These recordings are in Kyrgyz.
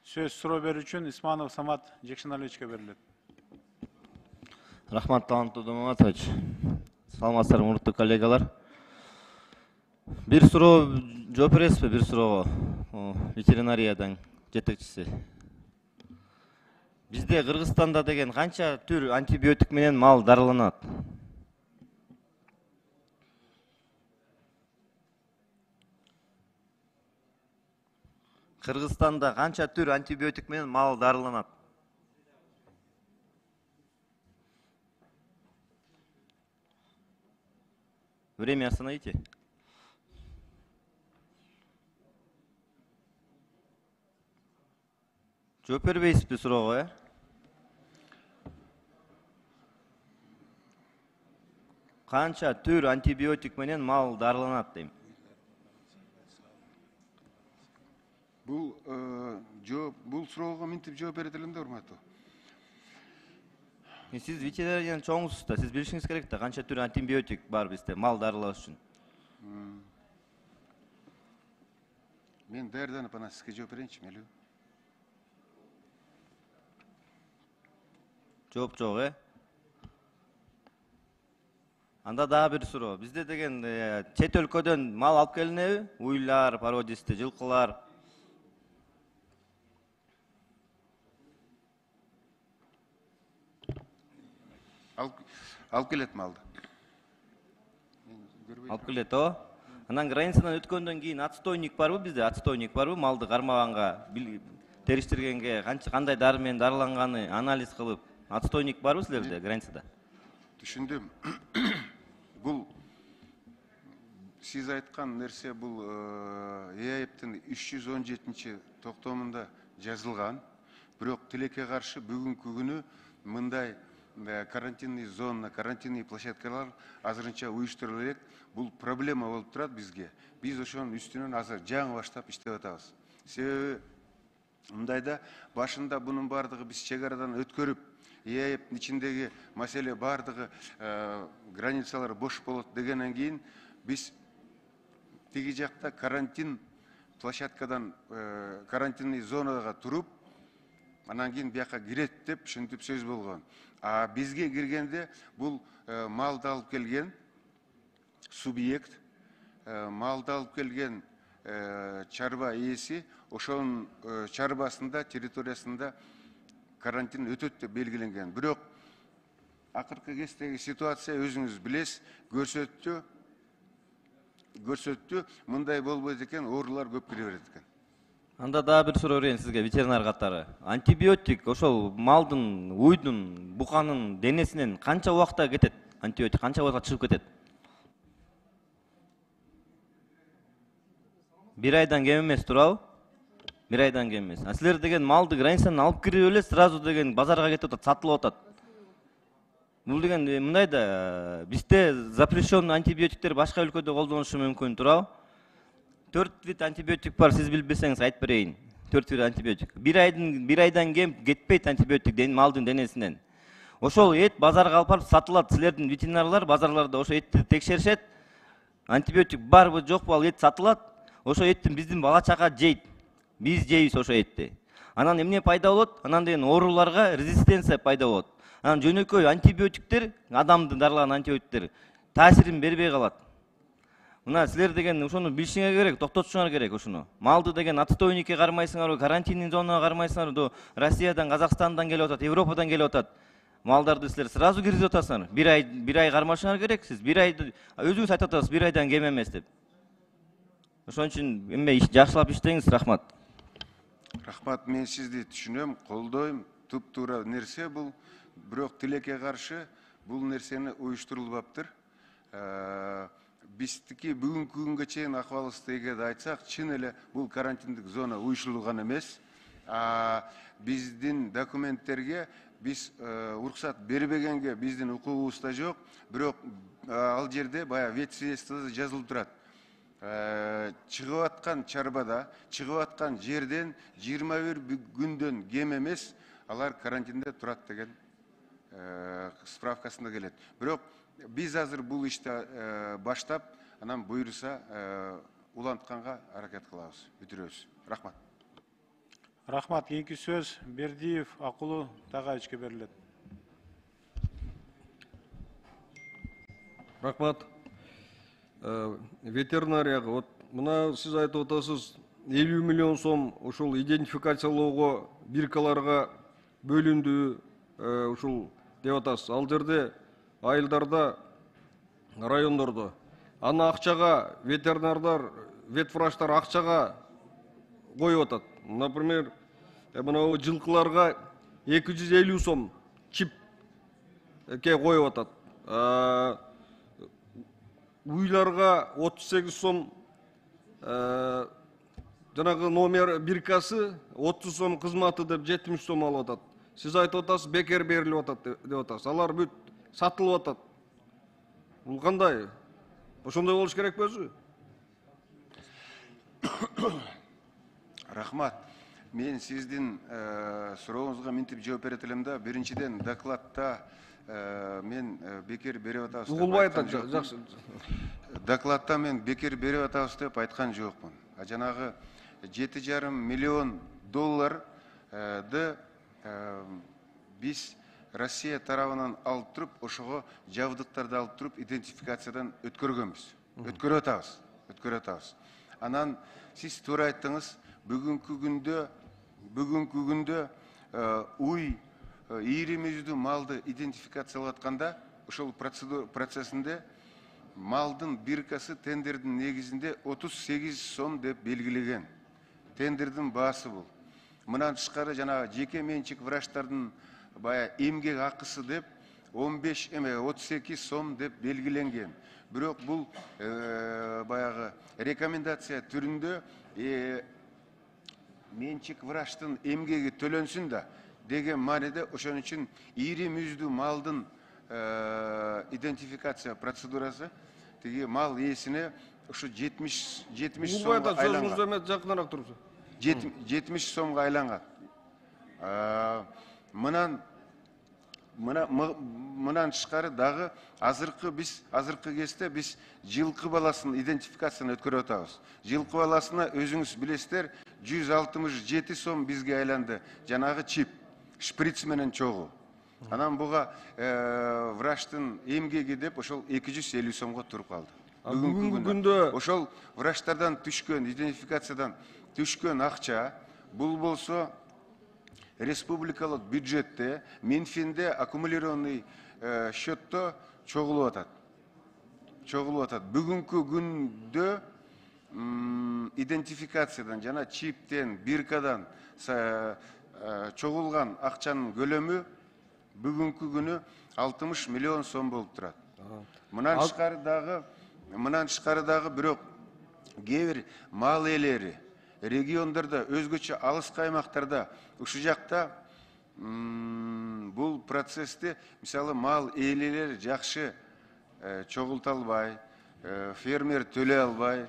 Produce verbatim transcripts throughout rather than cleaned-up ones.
Сөз суроо берүү үчүн Исманов Самат Жекшеналиевичке берилет. Рахмат, таланттуу Домоматович. Саламатсыздарбы, урматтуу коллегалар. Бир суроо жооп бересизби? Бир суроого ветеринариядан жетекчиси. Бизде Кыргызстанда деген канча түр антибиотик менен мал дарыланат? Кыргызстанда канча түр антибиотик менен мал дарыланат? Время остановите. Жооп бербейсизби суроого, э? Канча түр антибиотик менен мал дарыланат дейм. Бул жооп, бул суроого минтип жооп берет элем да, урматтуу. Сиз ветеринариянын чоңусуз да, сиз билишиңиз керек да, канча түр антибиотик бар бизде мал дарылоо үчүн. Мен даярданып анан сизге жооп берейинчи, мейлиби? Жооп жок, э? Анда дагы бир суроо. Бизде деген чет өлкөдөн мал алып келинеби? Уйлар, породисти, жылкылар. Алып келет малды. Алып келет, о? Анан границадан өткөндөн кийин отстойник барбы бизде? Отстойник барбы? Малды кармаганга, териштиргенге кандай дары менен дарыланганы анализ кылып, отстойник барбы силерде границада? Түшүндүм. Бул сиз айткан нерсе бул ЭАЭПтин үч жүз он жетинчи токтомунда жазылган. Бирок тилекке каршы бүгүнкү күнү мындай карантинный зона, карантинный площадкалар азырынча уюштурулуп элек. Бул проблема болуп турат бизге. Биз ошонун үстүнөн азыр жаңы баштап иштеп атабыз. Себеби мындайда башында бунун бардыгы биз чек арадан өткөрүп, ЭАЭПтин ичиндеги маселе бардыгы границалар бош болот дегенден кийин биз тиги жакта карантин площадкадан карантинный зонага туруп, анан кийин бияка кирет деп ушинтип сөз болгон. А бизге киргенде бул малды алып келген субъект, малды алып келген чарба ээси ошонун чарбасында, территориясында карантин өтөт деп белгиленген. Бирок акыркы кездеги ситуация өзүңүз билесиз, көрсөттү, көрсөттү, мындай болбойт экен, оорулар көп кире берет экен. Анда дагы бир суроо берейин сизге, ветеринар катары. Антибиотик ошол малдын, уйдун, буканын денесинен канча убакта кетет? Антибиотик канча убакта чыгып кетет? Бир айдан кем эмес, туурабы? Бир айдан кем эмес. А силер деген малды границадан алып кирип эле сразу деген базарга кетип атат, сатылып атат. Бул деген мындай да, бизде запрещенный антибиотиктер башка өлкөдө колдонушу мүмкүн, туурабы? Төрт вид антибиотик бар, сиз билбесеңиз айтып берейин. Төрт вид антибиотик. Бир айдан бир айдан кем кетпейт антибиотик малдын денесинен. Ошол эт базарга алып барып сатылат. Силердин ветеринарлар базарларда ошо этти текшеришет. Антибиотик барбы жокпу, ал эт сатылат. Ошо эттин биздин бала чака жейт. Биз жейбиз ошо этти. Анан эмне пайда болот? Анан деген ооруларга резистенция пайда болот. Анан жөнөкөй антибиотиктер, адамды дарылаган антибиотиктер таасирин бербей калат. Мына силер деген ошону билишиңер керек, токтотушуңар керек ошону. Малды деген отстойникке кармайсыңарбы, карантинный зонага кармайсыңарбы, Россиядан, Казакстандан келип атат, Европадан келип атат. Малдарды силер сразу киргизип атасыңар. Бир ай, бир ай кармашыңар керек. Сиз бир айды өзүңүз айтып атасыз, бир айдан кем эмес деп. Ошон үчүн эме жакшылап иштеңиз, рахмат. Рахмат, мен сизди түшүнөм, колдойм, туп-туура нерсе бул. Бирок тилекке каршы бул нерсени уюштурулбаптыр. Биздики бүгүнкү күнгө чейин акыбалыбызды эгерде айтсак, чын эле бул карантиндик зона уюштурулган эмес. Биздин документтерге биз уруксат бербегенге биздин укугубуз да жок. Бирок ал жерде баягы вет свидетельствода жазылып турат. Чыгып аткан чарбада, чыгып аткан жерден жыйырма бир күндөн кем эмес алар карантинде турат деген справкасында келет. Бирок биз азыр бул ишти баштап, анан буйруса улантканга аракет кылабыз, бүтүрөбүз. Рахмат. Рахмат. Кийинки сөз Бердиев Акулу Тагаевичке берилет. Рахмат. Ветеринарияга вот мына сиз айтып атасыз элүү миллион сом ушул идентификациялоого биркаларга бөлүндү ушул деп атасыз. Ал жерде айылдарда, райондордо аны акчага ветеринардар, ветврачтар акчага коюп атат. Например, мына жылкыларга эки жүз элүү сом чипке коюп атат. Уйларга отуз сегиз сом, жанагы номер биркасы отуз сом кызматы деп жетимиш сом алып атат. Сиз айтып атасыз бекер берилип атат деп атасыз. Алар бүт сатылып атат. Бул кандай? Ошондой болуш керек өзү. Рахмат. Мен сиздин сурооңузга минтип жооп берет элем да. Биринчиден докладта мен бекер берип атабыз. Угулбай атат, жакшы. Докладта мен бекер берип атабыз деп айткан жокмун. А жанагы жети жарым миллион долларды биз Россия тарабынан алып туруп, ошого жабдыктарды алып туруп, идентификациядан өткөргөнбүз. Өткөрүп атабыз. Өткөрүп атабыз. Анан сиз туура айттыңыз, бүгүнкү күндө бүгүнкү күндө уй ийри мүйүздүү малды идентификациялап атканда, ошол процедура процессинде малдын биркасы тендердин негизинде отуз сегиз сом деп белгилеген. Тендердин баасы бул. Мындан тышкары жана жеке менчик врачтардын бая эмгек акысы деп он беш эме отуз эки сом деп белгиленген. Бирок бул баягы рекомендация түрүндө менчик врачтын эмгеги төлөнсүн да деген мааниде ошон үчүн ийри мүйүздүү малдын идентификация процедурасы тиги мал ээсине ушу жетимиш сомго айланган. Сөзүңүздү эме жакыныраак туруңуз. жетимиш сомго айланган. Мынан мындан тышкары дагы азыркы биз азыркы кезде биз жылкы баласын идентификацияны өткөрүп атабыз. Жылкы баласына өзүңүз билесиздер, жүз алтымыш жети сом бизге айланды. Жанагы чип, шприц менен чогуу. Анан буга врачтын эмгеги деп ошол эки жүз элүү сомго туруп калды. Бүгүнкү күндө ошол врачтардан түшкөн, идентификациядан түшкөн акча бул болсо республикалык бюджетте, Минфинде аккумулированный счетто чогулуп атат. Чогулуп атат. Бүгүнкү күндө идентификациядан жана чиптен, биркадан чогулган акчанын көлөмү бүгүнкү күнү алтымыш миллион сом болуп турат. Мындан тышкары дагы, мындан тышкары дагы бирок кээ бир мал ээлери региондордо, өзгөчө алыскы аймактарда ушул жакта бул процессти, мисалы, мал ээлери жакшы чогулта албай, фермер төлөй албай,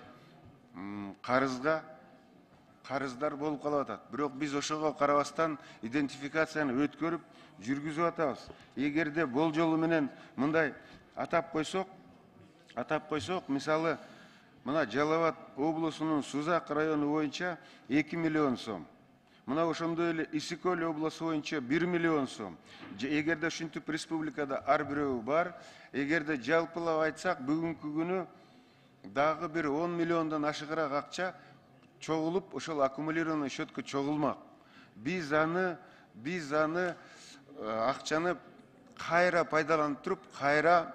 карызга карыздар болуп калып атат. Бирок биз ошого карабастан идентификацияны өткөрүп жүргүзүп атабыз. Эгерде болжолу менен мындай атап койсок, атап койсок, мисалы, мына Жалал Абад облусунун Сузак району боюнча эки миллион сом. Мына ошондой эле Исик Көл облусу боюнча бир миллион сом. Эгерде ушинтип республикада ар бирөө бар, эгерде жалпылап айтсак, бүгүнкү күнү дагы бир он миллиондон ашыгыраак акча чогулуп, ошол аккумулированный счетко чогулмак. Биз аны, биз аны акчаны кайра пайдаланып туруп, кайра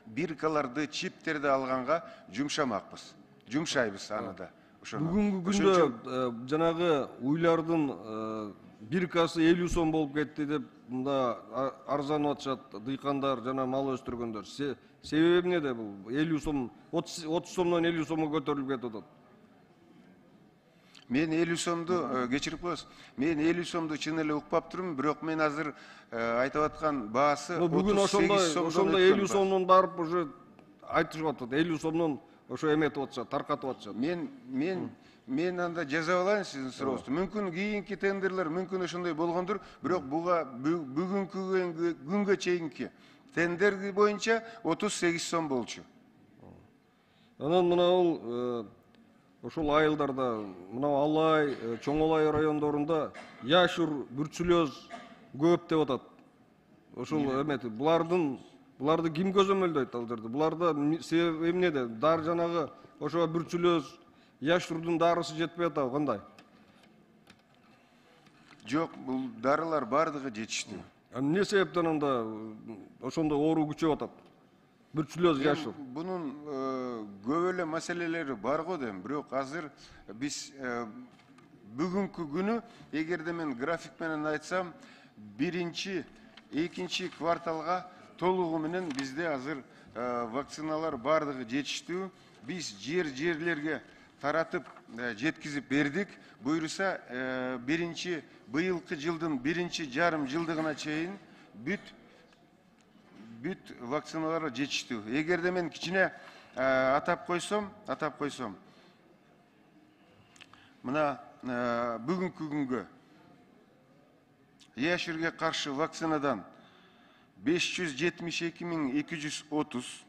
биркаларды, чиптерди алганга жумшамакпыз. Жумшайбыз аны да. Бүгүнкү күндө жанагы уйлардын биркасы элүү сом болуп кетти деп мында арзанып атышат дыйкандар жана мал өстүргөндөр. Себеби эмнеде бул? элүү сом, отуз сомдон элүү сомго көтөрүлүп кетип атат. Мен элүү сомду кечирип коесуз. Мен элүү сомду чын эле укпап турмун, бирок мен азыр айтып аткан баасы отуз сегиз сомдон. Ошондой элүү сомдон барып уже айтышып атат. элүү сомдон ошо эметип атышат, таркатып атышат. Мен мен мен анда жазап алайын сиздин сурооңузду. Мүмкүн кийинки тендерлер мүмкүн ошондой болгондур, бирок буга бүгүнкү күнгө чейинки тендер боюнча отуз сегиз сом болчу. Анан мына бул ошол айылдарда мына Алай, Чоң Алай райондорунда яшур, бүрчүлөз көп деп атат. Ошол эмети булардын буларды ким көзөмөлдөйт ал жерде? Буларда себеби эмнеде? Дар жанагы ошо бүрчүлөз, яшурдун дарысы жетпей атабы кандай? Жок, бул дарылар бардыгы жетиштүү. Эмне себептен анда ошондой оору күчөп атат? Бүрчүлөз, яшур. Бунун көп эле маселелери бар го дейм, бирок азыр биз бүгүнкү күнү эгерде мен график менен айтсам, биринчи, экинчи кварталга толугу менен бизде азыр вакциналар бардыгы жетиштүү. Биз жер-жерлерге таратып жеткизип бердик. Буюрса биринчи быйылкы жылдын биринчи жарым жылдыгына чейин бүт бүт вакциналар жетиштүү. Эгерде мен кичине атап койсом, атап койсом, мына бүгүнкү күнгө яшурге каршы вакцинадан беш жүз жетимиш эки миң эки жүз отуз,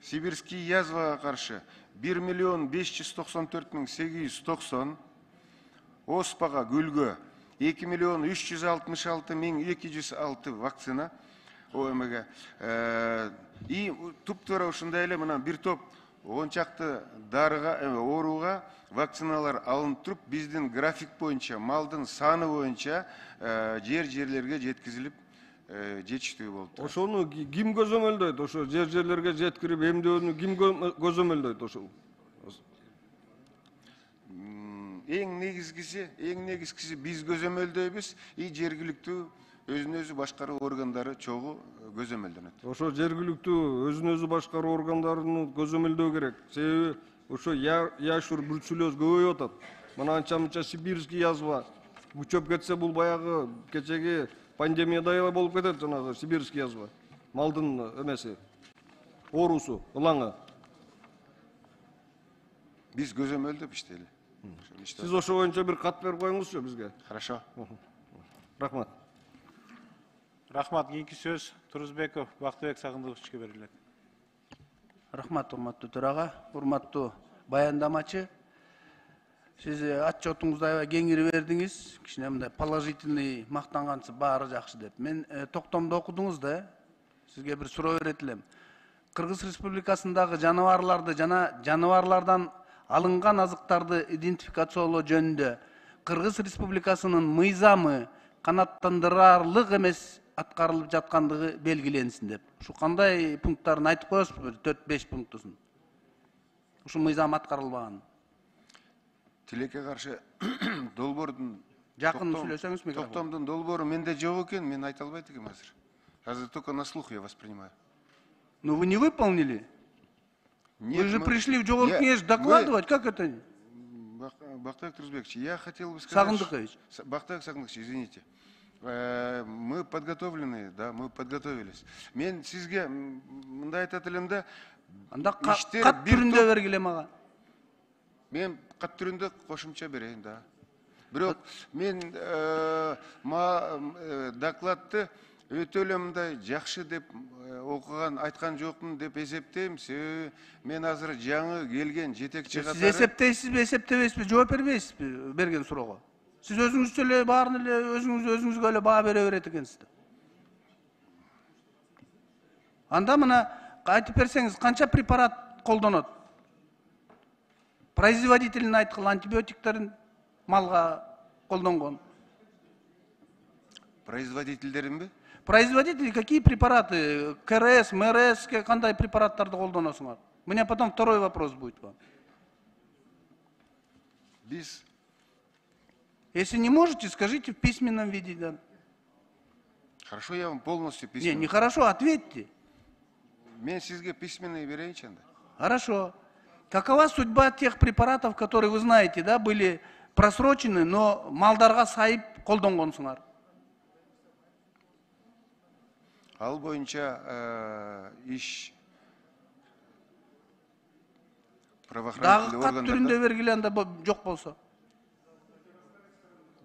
сибирский язвага каршы бир миллион беш жүз токсон төрт миң сегиз жүз токсон, оспага, гүлгө эки миллион үч жүз алтымыш алты миң эки жүз алты вакцина ОМГ. И туптуура ушундай эле мына бир топ он чакты дарыга, ооруга вакциналар алынып туруп, биздин график боюнча, малдын саны боюнча жер-жерлерге жеткизилип жетиштүү болуп. Ошону ким көзөмөлдөйт? Ошо жер-жерлерге жеткирип эмдөөнү ким көзөмөлдөйт ошол? Эң негизгиси, эң негизгиси биз көзөмөлдөйбүз, и жергиликтүү өзүн өзү башкаруу органдары чогуу көзөмөлдөнөт. Ошо жергиликтүү өзүн өзү башкаруу органдарын көзөмөлдөө керек. Себеби ошо яшур, бүрчүлөз көбөйүп атат. Мына анча-мынча сибирский язва күчөп кетсе, бул баягы кечеги пандемиядай эле болуп кетет, жанагы сибирский язва. Малдын эмеси, оорусу, ылаңы. Биз көзөмөлдөп иштейли. Сиз ошо боюнча бир кат берип коюңузчу бизге. Хорошо. Рахмат. Рахмат. Кийинки сөз Турузбеков Бактыбек Сагындыковичке берилет. Рахмат, урматтуу төрага, урматтуу баяндамачы. Сиз отчетуңузду аябай кеңири бердиңиз. Кичине мындай положительный мактангансыз, баары жакшы деп. Мен токтомдо окудуңуз да, сизге бир суроо берет элем. Кыргыз Республикасындагы жаныбарларды жана жаныбарлардан алынган азыктарды идентификациялоо жөнүндө Кыргыз Республикасынын мыйзамы канааттандырарлык эмес аткарылып жаткандыгы белгиленсин деп. Ушу кандай пункттарын айтып коесузбу? төрт беш пунктусун. Ушу мыйзам аткарылбаган. Тилекке каршы долбоордун жакын сүйлөсөңүз микрофон. Токтомдун долбоору менде жок экен, мен айта албайт экенмин азыр. Азыр только на слух я воспринимаю. Но вы не выполнили? Нет, Вы же мы... пришли в Жогорку кеңеш докладывать, как это? Бактыбек Турузбекович, я хотел бы сказать... Сагындыкович. Бактыбек Сагындыкович, извините. Мы подготовлены, да, мы подготовились. Мен сизге мындай айтат элем да... Анда кат түрүндө бергиле мага. Мен кат түрүндө кошумча берейин, да. Бирок мен докладты өтө эле мындай жакшы деп окуган, айткан жокмун деп эсептейм. Себеби мен азыр жаңы келген жетекчи катары... Сиз эсептейсизби, эсептебейсизби, жооп бербейсизби берген суроого? Сиз өзүңүз эле баарын эле өзүңүз өзүңүзгө эле баа бере берет экенсиз. Анда мына айтып берсеңиз, канча препарат колдонот? Производителин айткыл, антибиотиктерин малга колдонгон. Производительдеринби? Производители какие препараты? КРС, МРС, кандай препараттарды колдоносуңар? У меня потом второй вопрос будет вам. Биз... Если не можете, скажите в письменном виде. Да. Хорошо, я вам полностью письменно. Не, не хорошо, ответьте. Мен сизге письменный берейинчи анда. Хорошо. Какова судьба тех препаратов, которые, вы знаете, да, были просрочены, но малдарга сайып колдонгонсуңар? Ал боюнча иш правоохранительный органдарда... Дагы кат түрүндө бергиле анда жок болсо.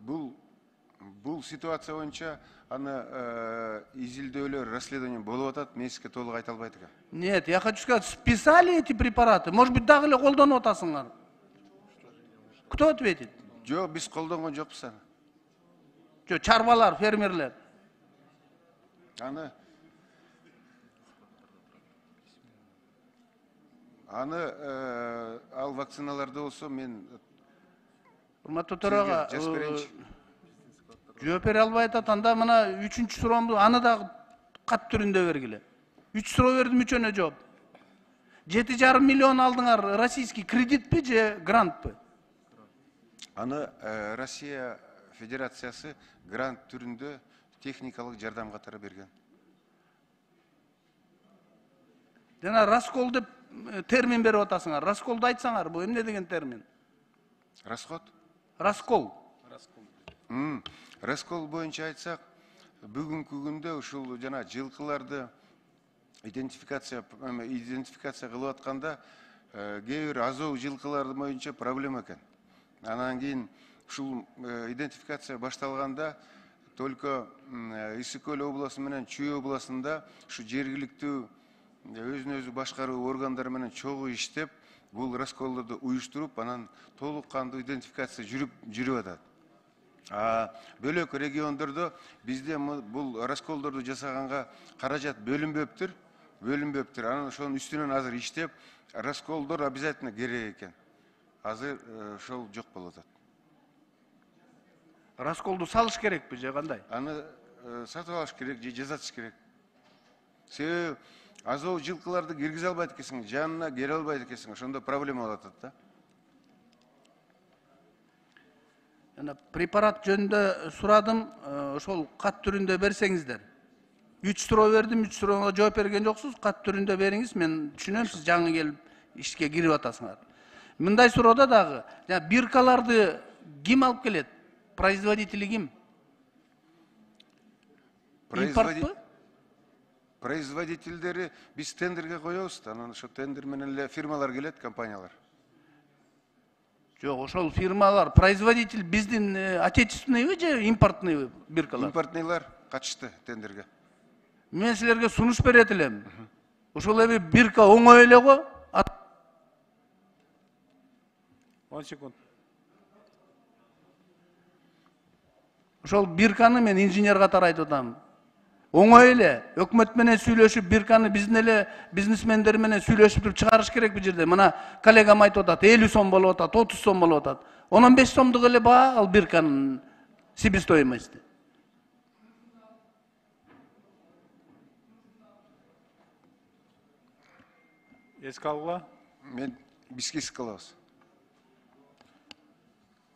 Бул бул ситуация боюнча аны изилдөөлөр, расследование болуп атат, мен сизге толук айта албайт экенм. Нет, я хочу сказать, списали эти препараты? Может быть, дагы эле колдонуп атасыңар? Кто ответит? Жок, биз колдонгон жокпуз аны. Жо, чарбалар, фермерлер. Аны аны ал вакциналарды болсо мен Урматтуу төрага, жазып берейинчи. жооп бере албай атат. Анда мына үчүнчү суроомду аны дагы кат түрүндө бергиле. Үч суроо бердим, үчөөнө жооп. Жети жарым миллион алдыңар, российский кредитпи же грантпы? Аны Россия Федерациясы грант түрүндө техникалык жардам катары берген. Жана раскол деп термин берип атасыңар. Расколду айтсаңар, бул эмне деген термин? Расход? Раскол. Раскол боюнча айтсак, бүгүнкү күндө ушул жана жылкыларды идентификация идентификация кылып атканда кээ бир азоо жылкылары боюнча проблема экен. Анан кийин ушул идентификация башталганда только Ысык Көл областы менен Чүй областында ушу жергиликтүү өзүн өзү башкаруу органдары менен чогуу иштеп, бул расколдорду уюштуруп, анан толук кандуу идентификация жүрүп жүрүп атат. А бөлөк региондордо бизде бул расколдорду жасаганга каражат бөлүнбөптүр, бөлүнбөптүр. Анан ошонун үстүнөн азыр иштеп, расколдор обязательно керек экен. Азыр ошол жок болуп атат. Расколду салыш керекпи же кандай? Аны сатып алыш керек же жасатыш керек. Себеби азоо жылкыларды киргизе албайт экенсиң, жанына келе албайт экенсиң, ошондо проблема болуп атат да. Жана препарат жөнүндө сурадым, ошол кат түрүндө берсеңиздер. Үч суроо бердим, үч суроого жооп берген жоксуз, кат түрүндө бериңиз. Мен түшүнөм, сиз жаңы келип ишке кирип атасыңар. Мындай суроодо дагы, жана биркаларды ким алып келет? Производители ким? Импортпу? Производительдери биз тендерге коебуз, анан ошо тендер менен эле фирмалар келет, компаниялар. Жок, ошол фирмалар, производитель биздин отечественныйбы же импортныйбы биркалар? Импортныйлар катышты тендерге. Мен силерге сунуш берет элем. Ошол эми бирка оңой эле го. он секунд. Ошол бирканы мен инженер катары айтып атам. Оңой эле өкмөт менен сүйлөшүп, бирканы биздин эле бизнесмендер менен сүйлөшүп туруп чыгарыш керек бул жерде. Мына коллегам айтып атат, элүү сом болуп атат, отуз сом болуп атат. он беш сомдук эле баа ал бирканын себестоимости. Эске алгыла. Мен бизге эске алабыз.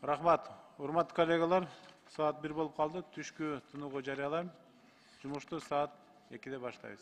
Рахмат. Урматтуу коллегалар, саат бир болуп калды. Түшкү тынууга жарыялайм. Жумушту саат экиде баштайбыз.